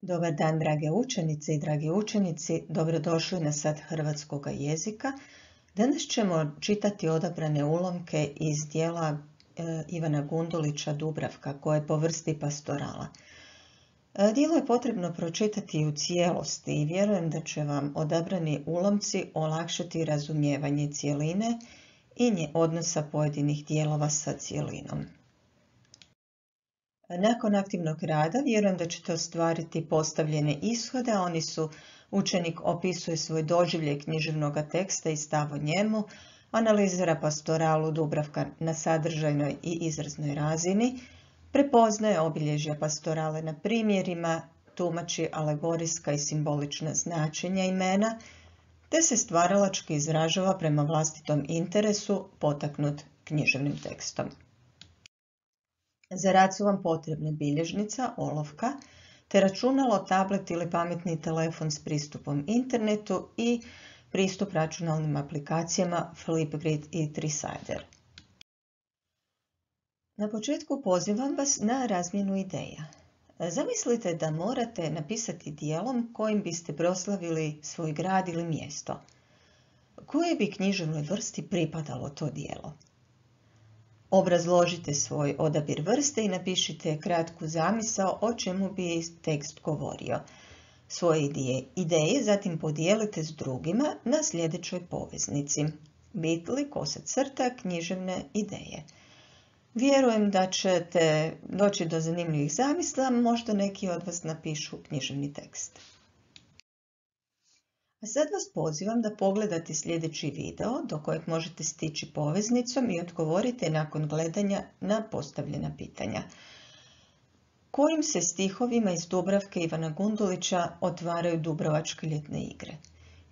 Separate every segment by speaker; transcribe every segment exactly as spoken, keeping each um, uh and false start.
Speaker 1: Dobar dan, drage učenice i dragi učenici, dobrodošli na Sat hrvatskog jezika. Danas ćemo čitati odabrane ulomke iz dijela e, Ivana Gundulića Dubravka, koje je po vrsti pastorala. E, dijelo je potrebno pročitati u cijelosti i vjerujem da će vam odabrani ulomci olakšati razumijevanje cjeline i nje odnosa pojedinih dijelova sa cjelinom. Nakon aktivnog rada vjerujem da ćete ostvariti postavljene ishode, a oni su: učenik opisuje svoj doživljaj književnog teksta i stav o njemu, analizira pastoralu Dubravka na sadržajnoj i izraznoj razini, prepoznaje obilježja pastorale na primjerima, tumači alegorijska i simbolična značenja imena, te se stvaralački izražava prema vlastitom interesu potaknut književnim tekstom. Za rad su vam potrebne bilježnica, olovka, te računalo, tablet ili pametni telefon s pristupom internetu i pristup računalnim aplikacijama Flipgrid i Trisider. Na početku pozivam vas na razmjenu ideja. Zamislite da morate napisati dijelom kojim biste proslavili svoj grad ili mjesto. Kojoj bi književnoj vrsti pripadalo to dijelo? Obrazložite svoj odabir vrste i napišite kratku zamisao o čemu bi tekst govorio. Svoje ideje zatim podijelite s drugima na sljedećoj poveznici. Bitli, kosa crta, književne ideje. Vjerujem da ćete doći do zanimljivih zamisla, možda neki od vas napišu književni tekst. A sad vas pozivam da pogledate sljedeći video do kojeg možete stići poveznicom i odgovorite nakon gledanja na postavljena pitanja. Kojim se stihovima iz Dubravke Ivana Gundulića otvaraju Dubrovačke ljetne igre?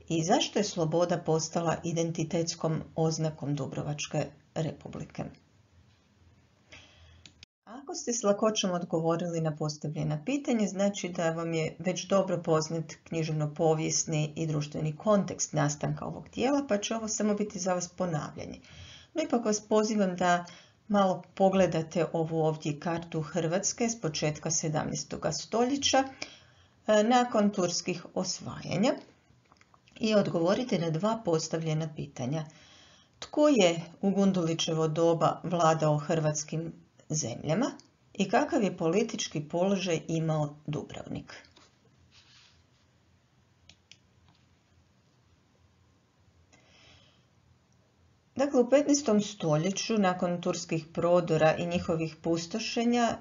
Speaker 1: I zašto je sloboda postala identitetskom oznakom Dubrovačke republike? Ako ste s lakoćom odgovorili na postavljena pitanja, znači da vam je već dobro poznat književno-povijesni i društveni kontekst nastanka ovog dijela, pa će ovo samo biti za vas ponavljanje. No ipak vas pozivam da malo pogledate ovu ovdje kartu Hrvatske s početka sedamnaestog stoljeća nakon turskih osvajanja i odgovorite na dva postavljena pitanja. Tko je u Gundulićevo doba vladao hrvatskim zemljama i kakav je politički položaj imao Dubrovnik? Dakle, u petnaestom stoljeću, nakon turskih prodora i njihovih pustošenja,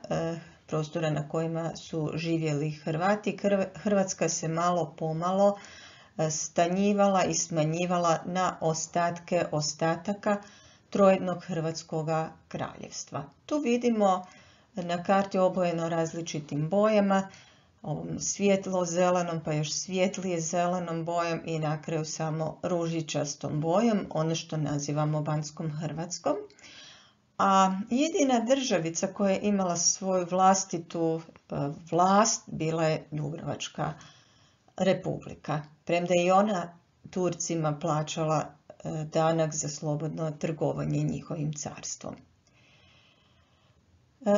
Speaker 1: prostora na kojima su živjeli Hrvati, Hrvatska se malo pomalo stanjivala i smanjivala na ostatke ostataka trojednog hrvatskog kraljevstva. Tu vidimo na karti obojeno različitim bojama, ovom svjetlo zelenom pa još svjetlije zelenom bojom i na kraju samo ružičastom bojom, ono što nazivamo Banskom Hrvatskom. A jedina državica koja je imala svoju vlastitu vlast bila je Dubrovačka republika, premda je i ona Turcima plaćala danak za slobodno trgovanje njihovim carstvom.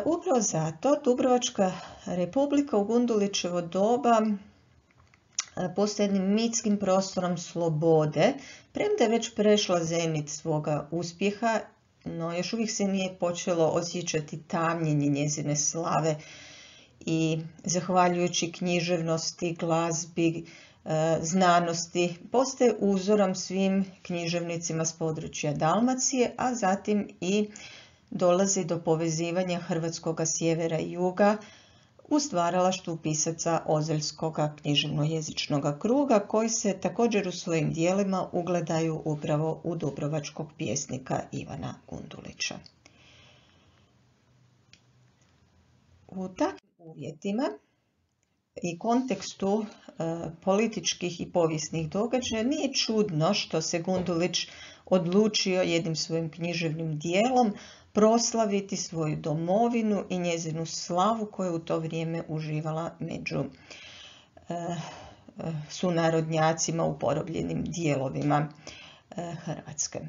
Speaker 1: Upravo zato Dubrovačka republika u Gundulićevo doba postaje jednim mitskim prostorom slobode, premda je već prešla zenit svoga uspjeha, no još uvijek se nije počelo osjećati tamnjenje njezine slave i zahvaljujući književnosti, glazbi, znanosti, postaje uzorom svim književnicima s područja Dalmacije, a zatim i dolazi do povezivanja hrvatskog sjevera i juga u stvaralaštvu pisaca Ozeljskog književno-jezičnog kruga, koji se također u svojim dijelima ugledaju upravo u dubrovačkog pjesnika Ivana Gundulića. U takvim uvjetima i kontekstu e, političkih i povijesnih događaja nije čudno što se Gundulić odlučio jednim svojim književnim dijelom proslaviti svoju domovinu i njezinu slavu koju je u to vrijeme uživala među e, sunarodnjacima u porobljenim dijelovima e, Hrvatske.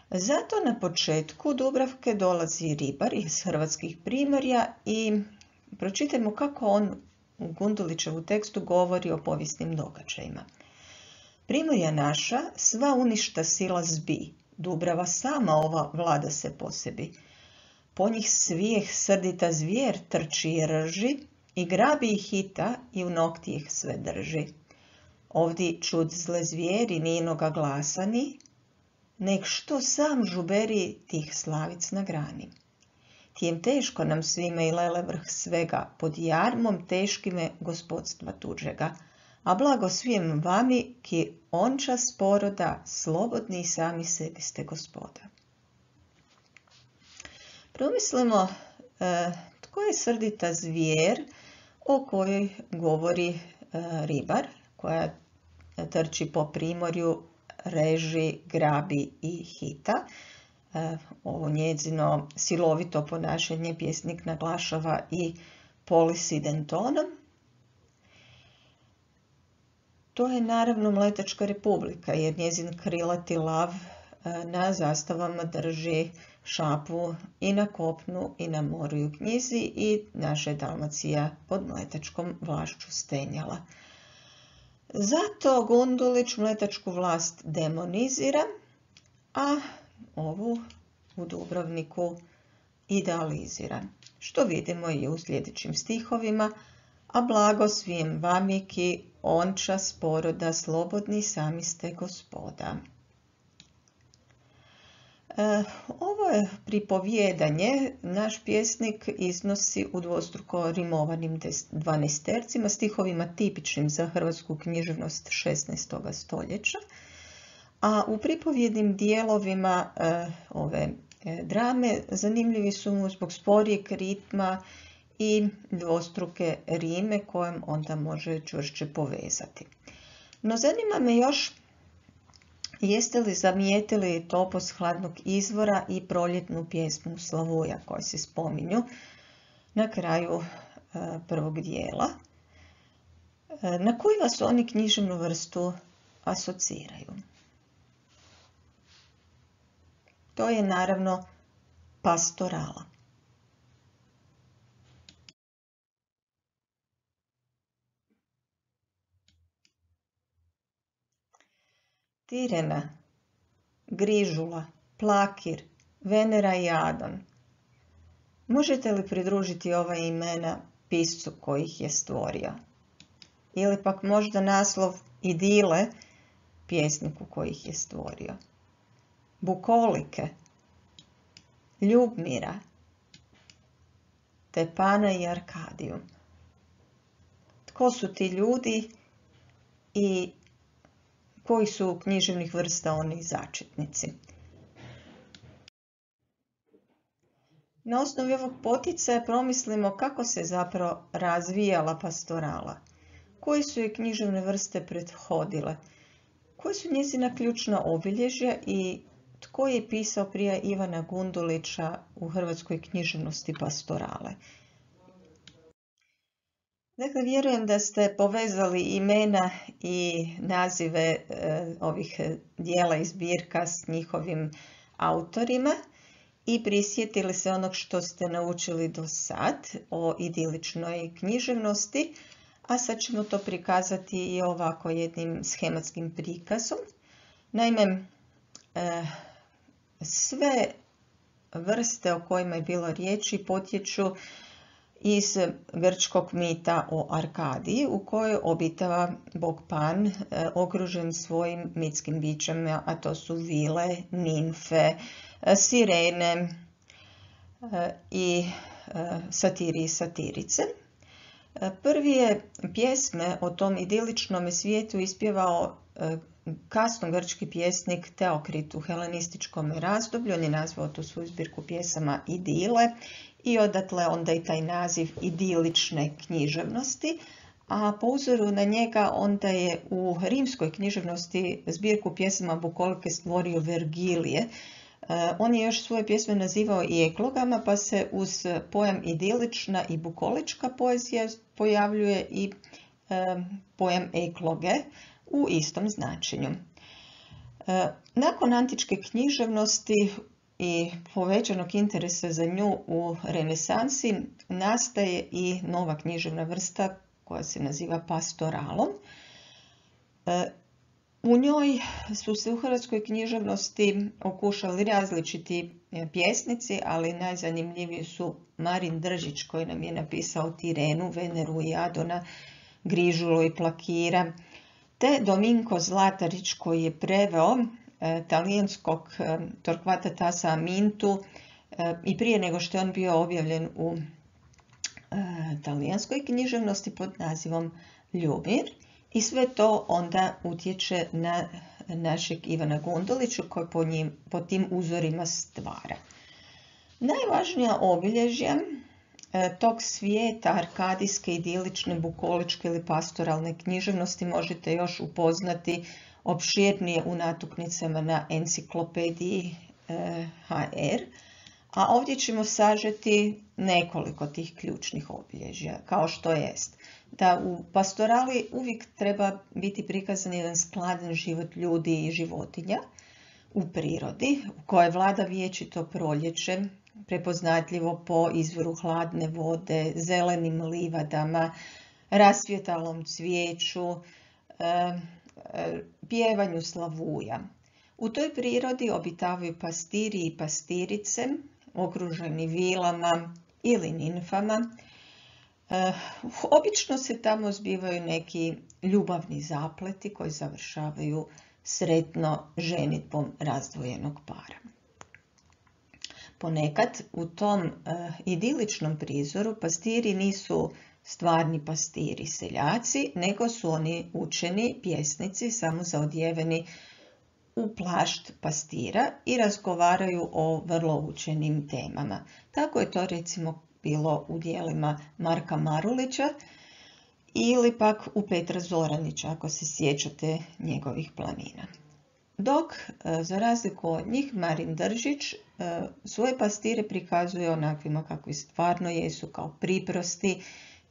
Speaker 1: Zato na početku Dubravke dolazi ribar iz hrvatskih primorja i pročitajmo kako on u Gundulićevu tekstu govori o povijesnim događajima. Primorja naša, sva uništa sila zbi, Dubrava sama ova vlada se po sebi. Po njih svijeh srdita zvijer trči i rži, i grabi ih hita i u nokti ih sve drži. Ovdi čud zle zvijeri ninoga glasani, nek što sam žuberi tih slavic na grani. Tijem teško nam svime i lele vrh svega, pod jarmom teškime gospodstva tuđega, a blago svijem vami, ki onča sporoda, slobodni i sami sebi ste gospoda. Promislimo e, tko je srdita zvijer o kojoj govori e, ribar, koja trči po primorju, reži, grabi i hita. E, ovo njezino silovito ponašanje pjesnik naglašava i polisidentonom. To je naravno Mletačka republika, jer njezin krilati lav na zastavama drži šapu i na kopnu i na moru i u knjizi, i naša je Dalmacija pod mletačkom vlašću stenjala. Zato Gundulić mletačku vlast demonizira, a ovu u Dubrovniku idealizira, što vidimo i u sljedećim stihovima, a blago svijem vami ki onča sporoda, slobodni sami ste gospoda. E, ovo je pripovjedanje naš pjesnik iznosi u dvostruko rimovanim dvanaestercima, stihovima tipičnim za hrvatsku književnost šesnaestog stoljeća, a u pripovjednim dijelovima e, ove e, drame zanimljivi su mu zbog sporijeg ritma i dvostruke rime kojem onda može čvršće povezati. No zanima me još, jeste li zamijetili topos hladnog izvora i proljetnu pjesmu Slavuja koje se spominju na kraju e, prvog dijela? E, na koju vas oni književnu vrstu asociraju? To je naravno pastorala. Tirena, Grižula, Plakir, Venera i Adon. Možete li pridružiti ova imena piscu koji ih je stvorio? Ili pak možda naslov Idile pjesniku koji ih je stvorio? Bukolike, Ljubmira, te Pana i Arkadiju. Tko su ti ljudi i koji su književnih vrsta oni začetnici? Na osnovi ovog poticaja promislimo kako se zapravo razvijala pastorala, koje su je književne vrste prethodile, koje su njezina ključna obilježja i tko je pisao prije Ivana Gundulića u hrvatskoj književnosti pastorale. Dakle, vjerujem da ste povezali imena i nazive e, ovih dijela i zbirka s njihovim autorima i prisjetili se onog što ste naučili do sad o idiličnoj književnosti, a sad ćemo to prikazati i ovako jednim schematskim prikazom. Naime, e, sve vrste o kojima je bilo riječi potječu iz grčkog mita o Arkadiji, u kojoj obitava bog Pan, e, okružen svojim mitskim bićama, a to su vile, nimfe, e, sirene e, i e, satiri i satirice. E, prvi je pjesme o tom idiličnom svijetu ispjevao e, kasno grčki pjesnik Teokrit u helenističkom razdoblju. On je nazvao tu svoju zbirku pjesama Idile i odatle onda i taj naziv idilične književnosti, a po uzoru na njega onda je u rimskoj književnosti zbirku pjesama bukolike stvorio Vergilije. On je još svoje pjesme nazivao i eklogama, pa se uz pojam idilična i bukolička poezija pojavljuje i pojam ekloge u istom značenju. Nakon antičke književnosti i povećanog interesa za nju u renesansi nastaje i nova književna vrsta koja se naziva Pastoralom. U njoj su se u hrvatskoj književnosti okušali različiti pjesnici, ali najzanimljiviji su Marin Držić koji nam je napisao Tirenu, Veneru i Adona, Grižulu i Plakira, te Dominko Zlatarić koji je preveo e, talijanskog e, Torquata Tassa Amintu e, i prije nego što je on bio objavljen u e, talijanskoj književnosti pod nazivom Ljubir. I sve to onda utječe na našeg Ivana Gundulića koji po, njim, po tim uzorima stvara. Najvažnija obilježja e, tog svijeta arkadijske, idilične, bukoličke ili pastoralne književnosti možete još upoznati opširnije u natuknicama na enciklopediji e, ha er, a ovdje ćemo sažeti nekoliko tih ključnih obilježja, kao što jest da u pastorali uvijek treba biti prikazan jedan skladan život ljudi i životinja u prirodi, u kojoj vlada vječito proljeće, prepoznatljivo po izvoru hladne vode, zelenim livadama, rasvjetalom cvijeću, pjevanju slavuja. U toj prirodi obitavaju pastiri i pastirice, okruženi vilama ili ninfama. Obično se tamo zbivaju neki ljubavni zapleti koji završavaju sretno ženitbom razdvojenog para. Ponekad u tom idiličnom prizoru pastiri nisu stvarni pastiri seljaci, nego su oni učeni pjesnici samo zaodjeveni u plašt pastira i razgovaraju o vrlo učenim temama. Tako je to recimo bilo u dijelima Marka Marulića ili pak u Petra Zoranića, ako se sjećate njegovih planina. Dok, za razliku od njih, Marin Držić svoje pastire prikazuje onakvima kakvi stvarno jesu, kao priprosti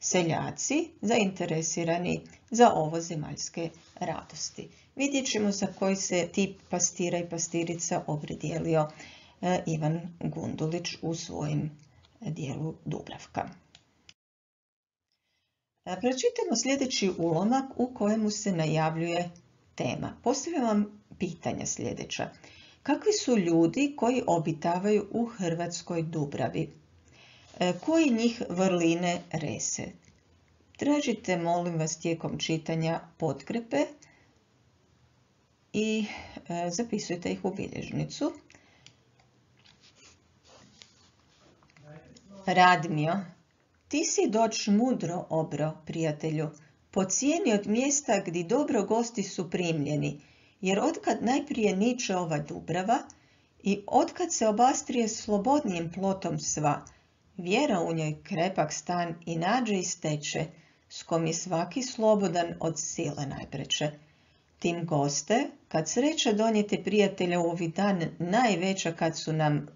Speaker 1: seljaci zainteresirani za ovozemaljske radosti. Vidjet ćemo za koji se tip pastira i pastirica opredijelio Ivan Gundulić u svojim dijelu Dubravka. Pročitamo sljedeći ulomak u kojemu se najavljuje tema. Postavljam vam pitanja sljedeća. Kakvi su ljudi koji obitavaju u Hrvatskoj Dubravi? Koji njih vrline rese? Tražite, molim vas, tijekom čitanja potkrepe i zapisujte ih u bilježnicu. Radmio, ti si doć mudro obro, prijatelju, po cijeni od mjesta gdje dobro gosti su primljeni, jer otkad najprije niče ova Dubrava i otkad se obastrije slobodnijim plotom sva, vjera u njoj krepak stan i nađe i steče, s kom je svaki slobodan od sile najpreče. Tim goste, kad sreća donijete prijatelja u ovi dan najveća kad su nam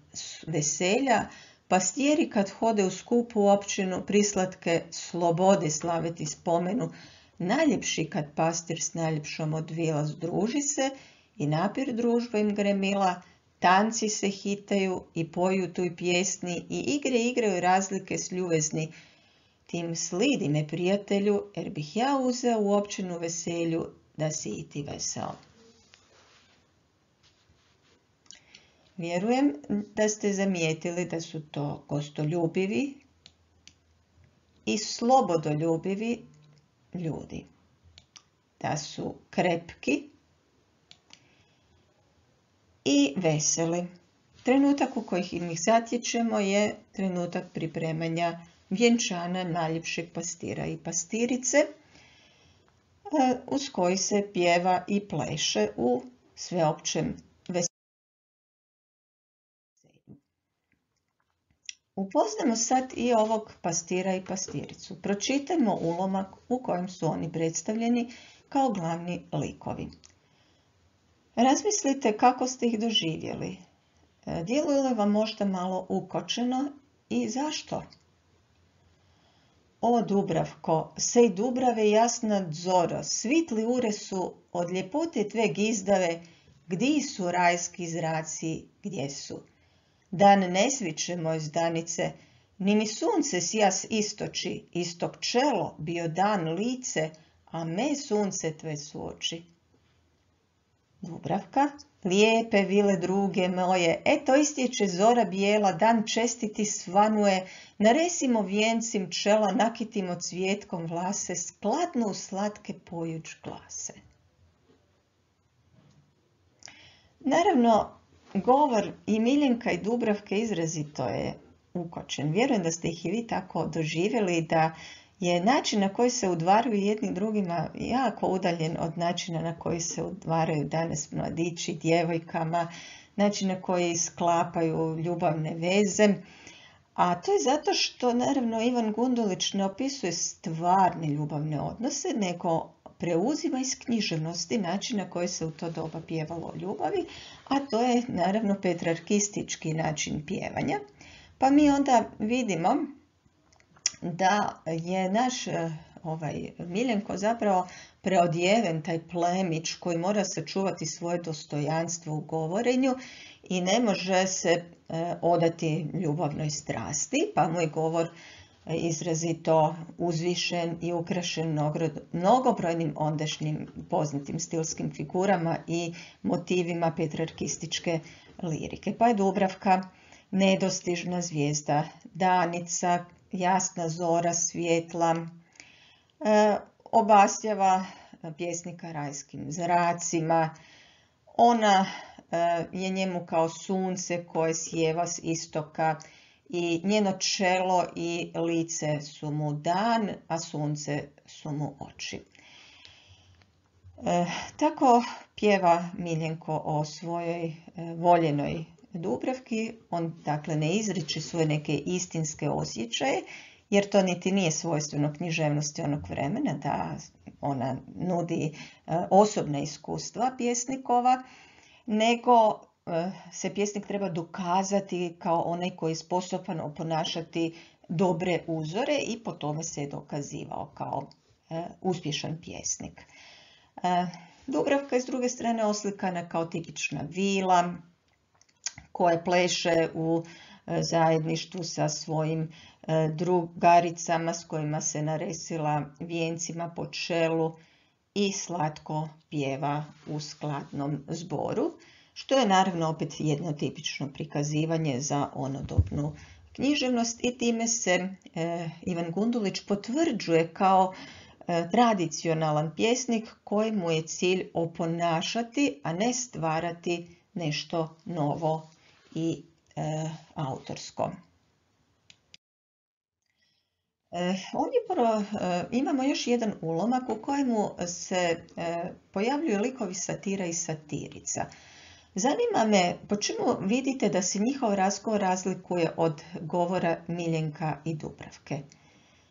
Speaker 1: veselja, pastijeri kad hode u skupu općinu prislatke slobode slaviti spomenu, najljepši kad pastir s najljepšom od vila združi se i napir družba im gremila, tanci se hitaju i poju tu pjesni i igre igraju razlike s ljubezni. Tim slidi me, prijatelju, jer bih ja uzeo u općinu veselju da si i ti veseo. Vjerujem da ste zamijetili da su to gostoljubivi i slobodoljubivi ljudi. Da su krepki i veseli. Trenutak u kojih ih zatječemo je trenutak pripremanja vjenčana najljepšeg pastira i pastirice, uz koji se pjeva i pleše u sveopćem veselju. Upoznamo sad i ovog pastira i pastiricu. Pročitajmo ulomak u kojem su oni predstavljeni kao glavni likovi. Razmislite kako ste ih doživjeli. Djeluje li vam možda malo ukočeno i zašto? O Dubravko, sej Dubrave jasna zoro, svitli ure su od ljepote tve gizdave, gdje su rajski zraci, gdje su? Dan ne sviče, moj zdanice, Ni mi sunce sjas istoči, istok čelo, bio dan lice, a me sunce tve su oči. Dubravka, lijepe vile druge moje, eto istječe zora bijela, dan čestiti svanuje, naresimo vijencim čela, nakitimo cvjetkom vlase, skladno u slatke pojuć glase. Naravno, govor i Miljenka i Dubravke izrazito je ukočen. Vjerujem da ste ih i vi tako doživjeli, da je način na koji se udvaraju jednim drugima jako udaljen od načina na koji se udvaraju danas mladići, djevojkama, način na koji sklapaju ljubavne veze. A to je zato što, naravno, Ivan Gundulić ne opisuje stvarne ljubavne odnose, nego preuzima iz književnosti način na koji se u to doba pjevalo o ljubavi, a to je, naravno, petrarkistički način pjevanja. Pa mi onda vidimo da je naš ovaj, Miljenko zapravo preodjeven, taj plemić koji mora sačuvati svoje dostojanstvo u govorenju i ne može se e, odati ljubavnoj strasti, pa mu je govor izrazito uzvišen i ukrašen mnogobrojnim ondašnjim poznatim stilskim figurama i motivima petrarkističke lirike. Pa je Dubravka nedostižna zvijezda, danica, jasna zora, svjetla, e, obasjava pjesnika rajskim zracima. Ona e, je njemu kao sunce koje sjeva s istoka i njeno čelo i lice su mu dan, a sunce su mu oči. E, tako pjeva Miljenko o svojoj e, voljenoj Dubravki. On dakle ne izriče svoje neke istinske osjećaje, jer to niti nije svojstveno književnosti onog vremena, da ona nudi e, osobna iskustva pjesnikova, nego e, se pjesnik treba dokazati kao onaj koji je sposoban oponašati dobre uzore i po tome se je dokazivao kao e, uspješan pjesnik. E, Dubravka je s druge strane oslikana kao tipična vila koja pleše u zajedništvu sa svojim drugaricama s kojima se naresila vijencima po čelu i slatko pjeva u skladnom zboru, što je naravno opet jedno tipično prikazivanje za onodobnu književnost i time se e, Ivan Gundulić potvrđuje kao e, tradicionalan pjesnik kojemu je cilj oponašati, a ne stvarati nešto novo i e, autorsko. E, ovdje prvo, e, imamo još jedan ulomak u kojemu se e, pojavljuju likovi satira i satirica. Zanima me po čemu vidite da se njihov razgovor razlikuje od govora Miljenka i Dubravke.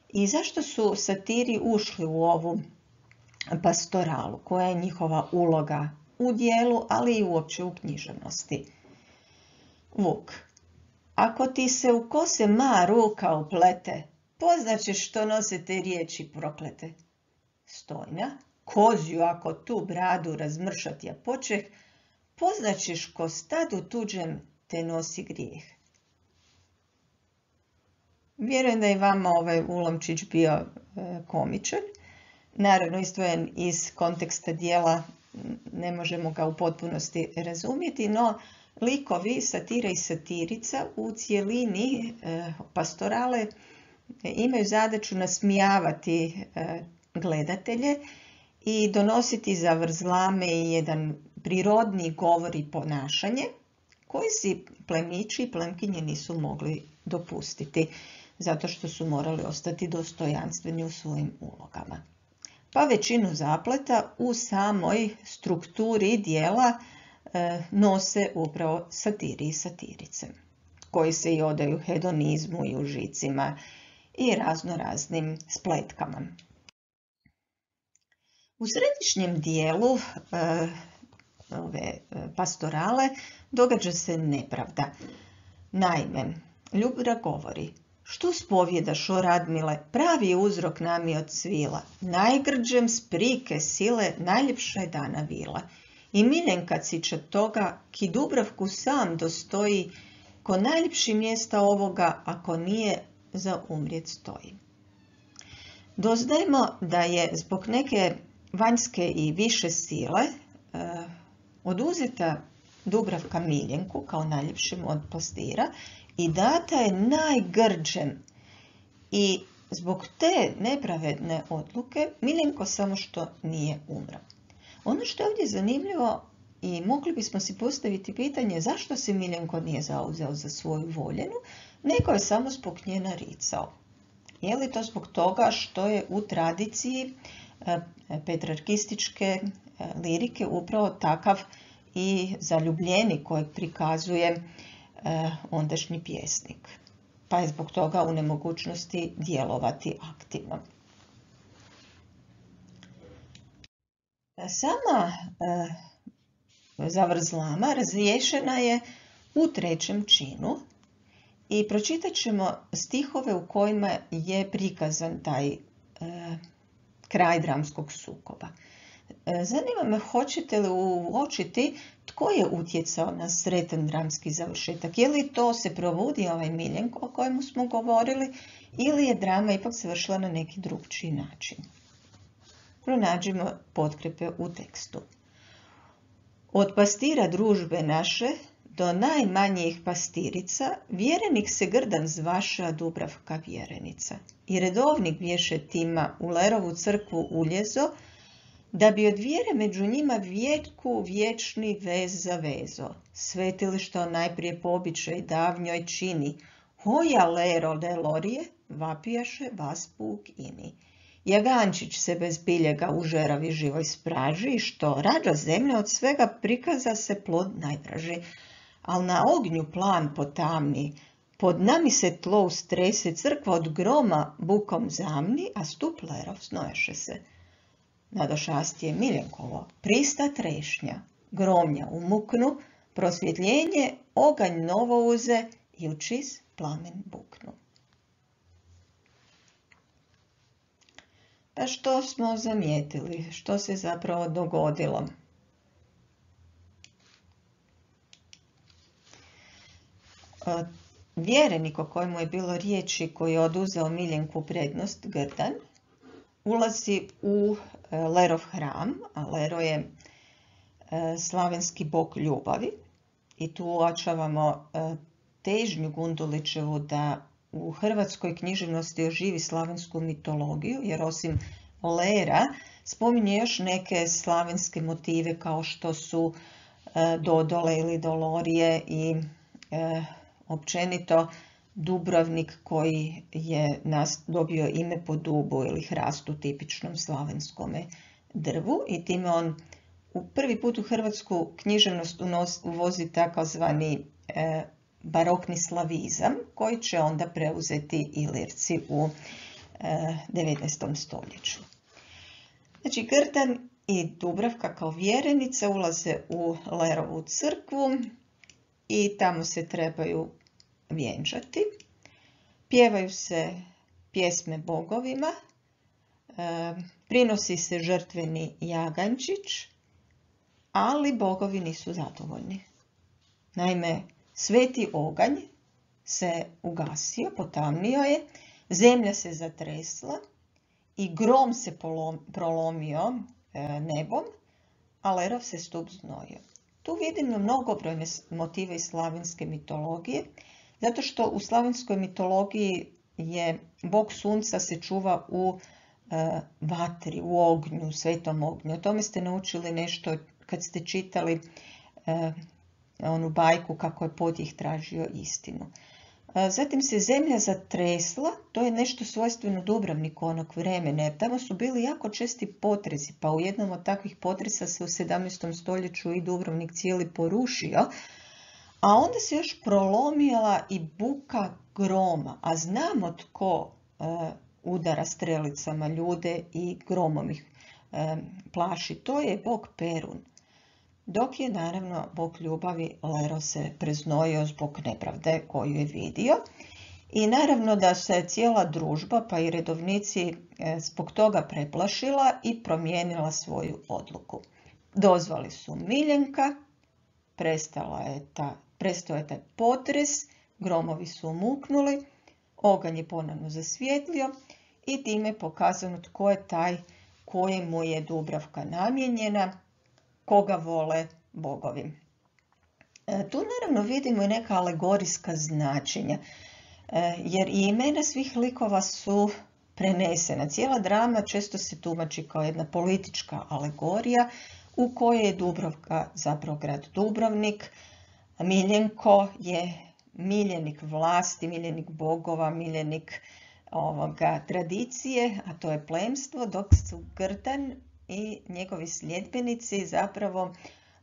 Speaker 1: I zašto su satiri ušli u ovu pastoralu, koja je njihova uloga u dijelu, ali i uopće u književnosti. Vuk, ako ti se u kose ma ruka uplete, poznaćeš što nose te riječi proklete. Stojna, kozju ako tu bradu razmršat ja počeh, poznaćeš ko stadu tuđem te nosi grijeh. Vjerujem da je vama ovaj ulomčić bio e, komičan. Naravno, izdvojen iz konteksta dijela, ne možemo ga u potpunosti razumjeti, no likovi satira i satirica u cjelini e, pastorale e, imaju zadaću nasmijavati e, gledatelje i donositi zavrzlame i jedan prirodni govor i ponašanje koji si plemići i plemkinje nisu mogli dopustiti, zato što su morali ostati dostojanstveni u svojim ulogama. Pa većinu zapleta u samoj strukturi dijela e, nose upravo satiri i satirice, koji se i odaju hedonizmu i užicima i razno raznim spletkama. U središnjem dijelu e, ove pastorale događa se nepravda. Naime, Ljubra govori: što spovjedaš, o Radmile, pravi je uzrok nami od svila, najgrđem sprike sile najljepša je dana vila. I Miljenka ciča toga, ki Dubravku sam dostoji, ko najljepši mjesta ovoga, ako nije za umrijet stoji. Doznajemo da je zbog neke vanjske i više sile e, oduzeta Dubravka Miljenku kao najljepšem od pastira i data je najgrđem. I zbog te nepravedne odluke Miljenko samo što nije umro. Ono što je ovdje zanimljivo i mogli bismo si postaviti pitanje zašto se Miljenko nije zauzeo za svoju voljenu, nego je samo zbog nje naricao. Je li to zbog toga što je u tradiciji petrarkističke lirike upravo takav i zaljubljenik kojeg prikazuje ondašnji pjesnik, pa je zbog toga u nemogućnosti djelovati aktivno. Sama zavrzlama razriješena je u trećem činu i pročitat ćemo stihove u kojima je prikazan taj e, kraj dramskog sukoba. E, zanima me, hoćete li uočiti tko je utjecao na sretan dramski završetak? Je li to se provodi ovaj Miljenko o kojemu smo govorili ili je drama ipak završila na neki drugčiji način? Pronađimo potkrepe u tekstu. Od pastira družbe naše do najmanjih pastirica, vjerenik se grdan zvaša Dubravka vjerenica. I redovnik bješe tima u Lerovu crkvu uljezo, da bi od vjere među njima vjetku vječni vez za vezo. Svetilišta najprije po običaj davnjoj čini, hoja Lero Lelorije, vapijaše vas puk ini. Jagančić se bez biljega u žeravi živoj spraži i što rađa zemlja od svega prikaza se plod najdraži. Al na ognju plan potamni, pod nami se tlo ustrese, crkva od groma bukom zamni, a stup Lerov snoješe se. Nadošastije Miljenkovo, prista trešnja, gromnja umuknu, prosvjetljenje, oganj novo uze i u čist plamen buknu. Pa što smo zamijetili? Što se zapravo dogodilo? Vjerenik o kojemu je bilo riječi, koji je oduzeo Miljenku prednost, grdan, ulazi u Lerov hram, a Lero je slavenski bog ljubavi. I tu uočavamo težnju Gundulićevu da u hrvatskoj književnosti oživi slavensku mitologiju, jer osim Lera spominje još neke slavenske motive kao što su Dodole ili Dolorije i e, općenito Dubrovnik koji je nas dobio ime po dubu ili hrastu, tipičnom slavenskome drvu, i time on u prvi put u hrvatsku književnost uvozi takozvani e, barokni slavizam koji će onda preuzeti Ilirci u e, devetnaestom stoljeću. Znači, Grdan i Dubravka kao vjerenica ulaze u Lerovu crkvu i tamo se trebaju vjenčati. Pjevaju se pjesme bogovima, e, prinosi se žrtveni jagančić, ali bogovi nisu zadovoljni. Naime, sveti oganj se ugasio, potamnio je, zemlja se zatresla i grom se prolomio e, nebom, a Lerov se stup znojio. Tu vidimo mnogobrojne motive iz slavenske mitologije, zato što u slavenskoj mitologiji je bog sunca se čuva u e, vatri, u ognju, svetom ognju. O tome ste naučili nešto kad ste čitali e, onu bajku kako je Podjih tražio istinu. E, zatim se zemlja zatresla, to je nešto svojstveno Dubrovniku onog vremena, jer tamo su bili jako česti potresi, pa u jednom od takvih potresa se u sedamnaestom stoljeću i Dubrovnik cijeli porušio, a onda se još prolomila i buka groma, a znamo tko e, udara strelicama ljude i gromom ih e, plaši. To je bog Perun. Dok je naravno bog ljubavi Lero se preznojio zbog nepravde koju je vidio. I naravno da se cijela družba, pa i redovnici, e, zbog toga preplašila i promijenila svoju odluku. Dozvali su Miljenka, prestala je ta Prestao je taj potres, gromovi su umuknuli, oganj je ponovno zasvijetlio i time je pokazano tko je taj kojemu je Dubravka namijenjena, koga vole bogovi. Tu naravno vidimo i neka alegorijska značenja, jer i imena svih likova su prenesena. Cijela drama često se tumači kao jedna politička alegorija u kojoj je Dubravka zapravo grad Dubrovnik, Miljenko je miljenik vlasti, miljenik bogova, miljenik ovoga tradicije, a to je plemstvo, dok su Grdan i njegovi sljedbenici zapravo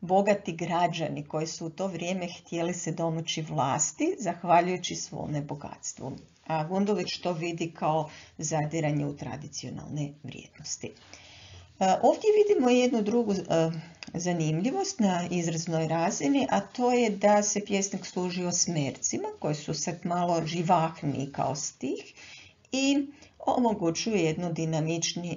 Speaker 1: bogati građani koji su u to vrijeme htjeli se domoći vlasti zahvaljujući svome bogatstvu. A Gundulić to vidi kao zadiranje u tradicionalne vrijednosti. Ovdje vidimo jednu drugu zanimljivost na izraznoj razini, a to je da se pjesnik služi osmercima koji su sad malo živahniji kao stih i omogućuje jedno dinamičnije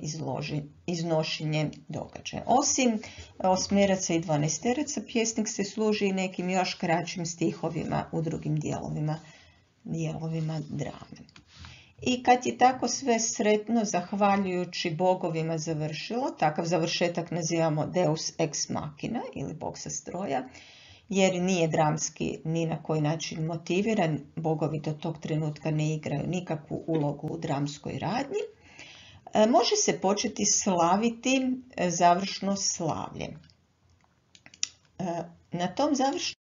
Speaker 1: iznošenje događaja. Osim osmeraca i dvanaesteraca, pjesnik se služi i nekim još kraćim stihovima u drugim dijelovima, dijelovima drame. I kad je tako sve sretno, zahvaljujući bogovima završilo, takav završetak nazivamo Deus ex machina ili bog sa stroja, jer nije dramski ni na koji način motiviran, bogovi do tog trenutka ne igraju nikakvu ulogu u dramskoj radnji, može se početi slaviti završno slavlje. Na tom završnom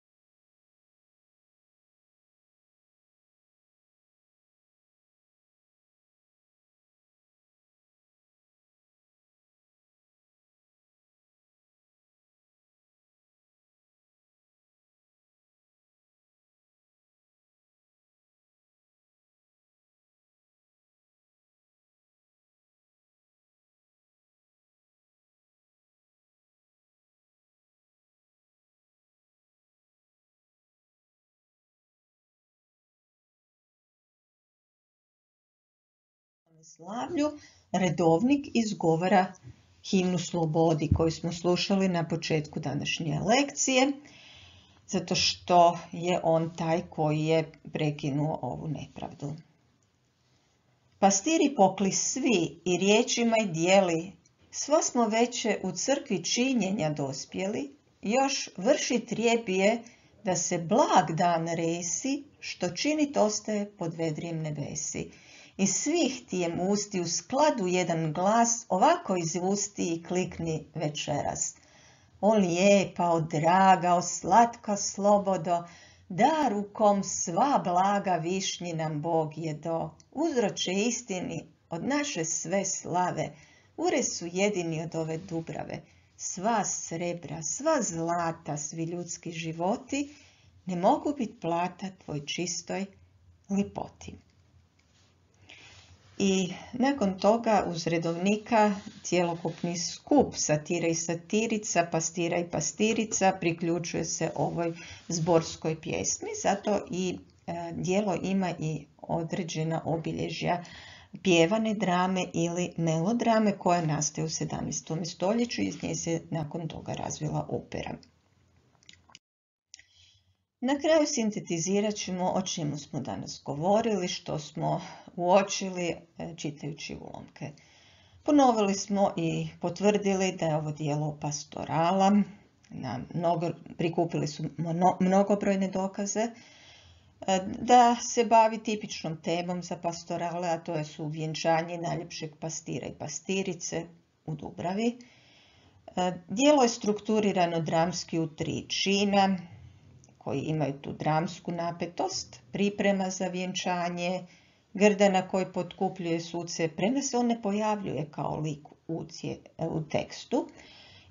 Speaker 1: slavlju redovnik izgovara himnu slobodi koju smo slušali na početku današnje lekcije, zato što je on taj koji je prekinuo ovu nepravdu. Pastiri pokli svi i riječima i dijeli, sva smo veće u crkvi činjenja dospjeli, još vrši trijebije da se blag dan resi, što činit ostaje pod vedrijem nebesi. Iz svih tijem usti u skladu jedan glas ovako izusti i klikni večeras. O lijepa, o draga, o slatka slobodo, dar u kom sva blaga višnji nam Bog je do. Uzroče istini od naše sve slave, ure su jedini od ove Dubrave. Sva srebra, sva zlata, svi ljudski životi ne mogu biti plata tvoj čistoj lipoti. I nakon toga uz redovnika cjelokupni skup satire i satirica, pastira i pastirica priključuje se ovoj zborskoj pjesmi, zato i e, djelo ima i određena obilježja pjevane drame ili melodrame koja nastaje u sedamnaestom stoljeću i iz nje se nakon toga razvila opera. Na kraju sintetizirat ćemo o čemu smo danas govorili, što smo uočili čitajući ulomke. Ponovili smo i potvrdili da je ovo djelo pastorala, na mnogo, prikupili su mnogobrojne dokaze, da se bavi tipičnom temom za pastorale, a to je su vjenčanje najljepšeg pastira i pastirice u Dubravi. Djelo je strukturirano dramski u tri čina, koji imaju tu dramsku napetost, priprema za vjenčanje, Grdana koji potkupljuje suce, premda se on ne pojavljuje kao lik u, cije, u tekstu,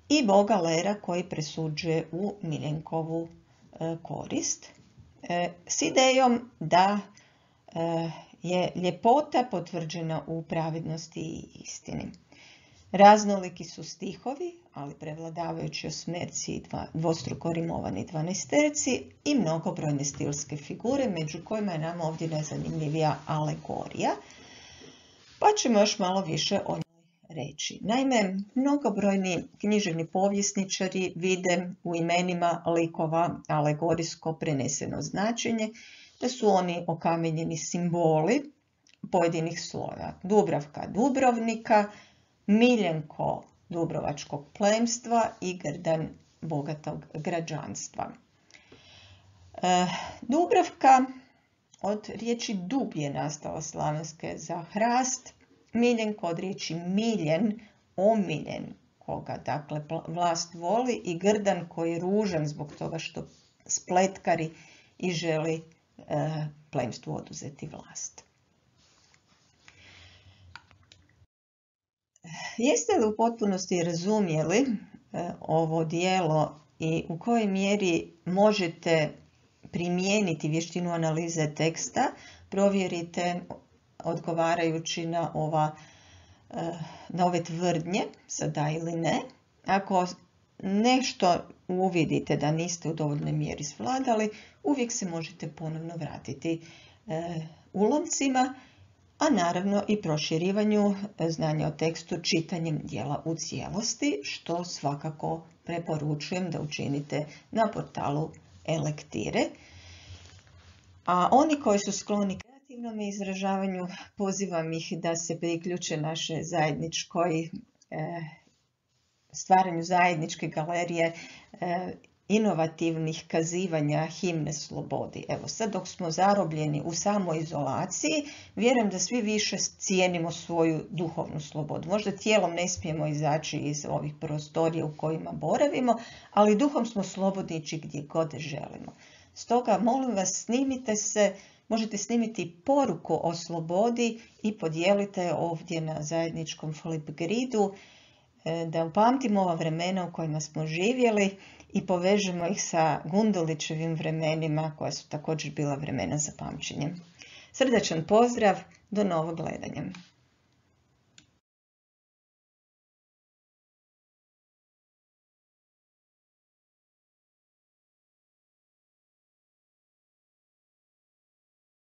Speaker 1: i boga Lera koji presuđuje u Miljenkovu e, korist, e, s idejom da e, je ljepota potvrđena u pravednosti i istini. Raznoliki su stihovi, ali prevladavajući osmerci i dvostruko rimovani dvanaesterci i mnogobrojne stilske figure, među kojima je nam ovdje najzanimljivija alegorija, pa ćemo još malo više o njoj reći. Naime, mnogobrojni književni povjesničari vide u imenima likova alegorijsko preneseno značenje, da su oni okamenjeni simboli pojedinih slojeva. Dubravka Dubrovnika, Miljenko dubrovačkog plemstva i Grdan bogatog građanstva. E, Dubravka od riječi dub je nastala slavenske za hrast, Miljenko od riječi miljen, omiljen, koga dakle vlast voli, i Grdan koji je ružan zbog toga što spletkari i želi e, plemstvu oduzeti vlast. Jeste li u potpunosti razumjeli e, ovo djelo i u kojoj mjeri možete primijeniti vještinu analize teksta? Provjerite odgovarajući na, ova, e, na ove tvrdnje sa da ili ne. Ako nešto uvidite da niste u dovoljnoj mjeri svladali, uvijek se možete ponovno vratiti e, ulomcima, a naravno i proširivanju znanja o tekstu čitanjem dijela u cijelosti, što svakako preporučujem da učinite na portalu e-lektire. A oni koji su skloni kreativnom izražavanju, pozivam ih da se priključe naše zajedničkoj e, stvaranju zajedničke galerije e, inovativnih kazivanja himne slobodi. Evo sad dok smo zarobljeni u samoizolaciji, vjerujem da svi više cijenimo svoju duhovnu slobodu. Možda tijelom ne smijemo izaći iz ovih prostorija u kojima boravimo, ali duhom smo slobodni ići gdje god želimo. Stoga molim vas, snimite se, možete snimiti poruku o slobodi i podijelite ovdje na zajedničkom Flipgridu, da upamtimo ova vremena u kojima smo živjeli i povežemo ih sa Gundulićevim vremenima, koja su također bila vremena za pamćenje. Srdačan pozdrav, do novog gledanja.